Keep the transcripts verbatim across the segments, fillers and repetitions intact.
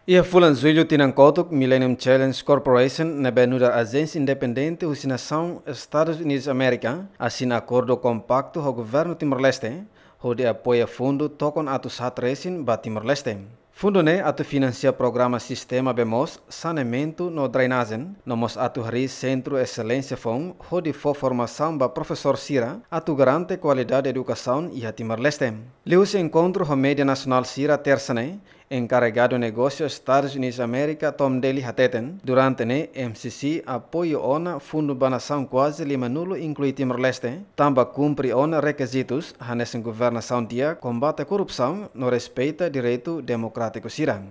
Iha fulan Jullu tinan kotuk, Millennium Challenge Corporation ne'ebé nu'udar ajénsia independente husi nasaun Estadus Unidus Amérika asina akordu kompaktu ho governu Timor-Leste hodi apoia fundu tokon atus haat resin ba Timor-Leste. Fundu ne'e atu finansia programa sistema bee moos, saneamentu no drenajen, no mós atu harii sentru eselénsia foun hodi fó formasaun ba profesór sira atu garante kualidade edukasaun iha Timor-Leste. Liuhusi enkontru ho média nasionál sira Tersa ne'e, enkarregadu negósiu Estadus Unidus Amérika Tom Daley hateten, durante ne'e M C C apoiu ona fundu ba nasaun kuaze limanulu inklui Timor-Leste, tanba kumpre ona rekizitus hanesan governasaun di'ak, kombate korrupsaun no respeita direitu demokrátiku sira.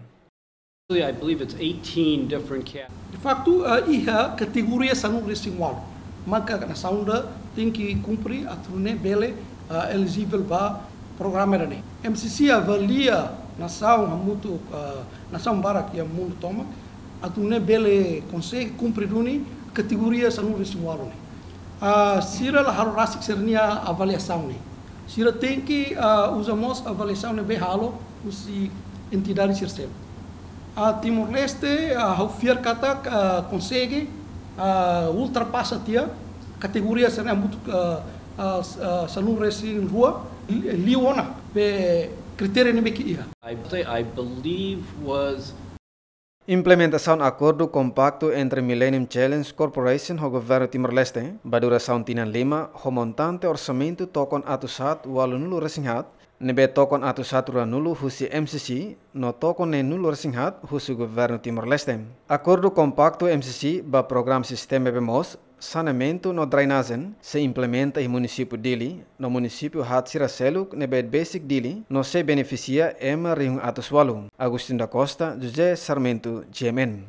I believe it's eighteen different cat. De facto, ah, iha kategoria sanulu resin ualu maka nasaun ida tenke kumpre atu nune'e bele, ah, elijivel ba programa ida-ne'e. M C C avalia nasaun hamutuk, ah, nasaun barak iha mundu tomak atu nune'e bele konsege kumpre duni kategoria sanulu resin ualu ne'e. Ah, sira la halo rasik sira-nia avaliasaun ne'e. Sira tenke, ah, uza mós avaliasaun ne'ebé halo husi entidade sira seluk. Ah, Timor-Leste, ah, ha'u fiar katak, ah, konsege, ah, ultrapasa tiha kategoria sira-ne'e hamutuk, ah, ah, s-, ah, sanulu resin rua, li-, liu ona be kritéria ne'ebé ke iha. I, I believe was Implementasaun akordu kompaktu entre Millennium Challenge Corporation ho governu Timor-Leste ba durasaun tinan lima ho montante orsamentu tokon atus haat ualunulu resin haat, ne'ebé tokon atus haat ruanulu husi M C C no tokon neenulu resin haat husi governu Timor-Leste. Akordu kompaktu M C C ba programa sistema bee moos, saneamentu no drenajen sei implementa iha munisípiu Dili no munisípiu haat sira seluk ne'ebé besik Dili no sei benefisia ema rihun atus ualu. Agostinho da Costa, José Sarmento, G M N.